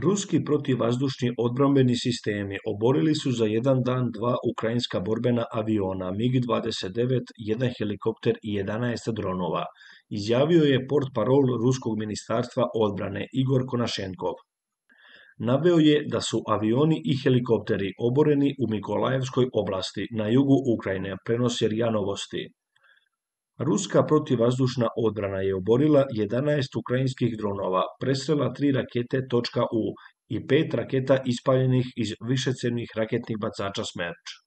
Ruski protivvazdušni odbrambeni sistemi oborili su za jedan dan dva ukrajinska borbena aviona MiG-29, jedan helikopter i 11 dronova, izjavio je portparol Ruskog ministarstva odbrane Igor Konašenkov. Naveo je da su avioni i helikopteri oboreni u Mikolajevskoj oblasti na jugu Ukrajine, prenosi RIA Novosti. Ruska protivvazdušna odbrana je oborila 11 ukrajinskih dronova, presrela 3 rakete .U i 5 raketa ispaljenih iz višecjevnih raketnih bacača Smerč.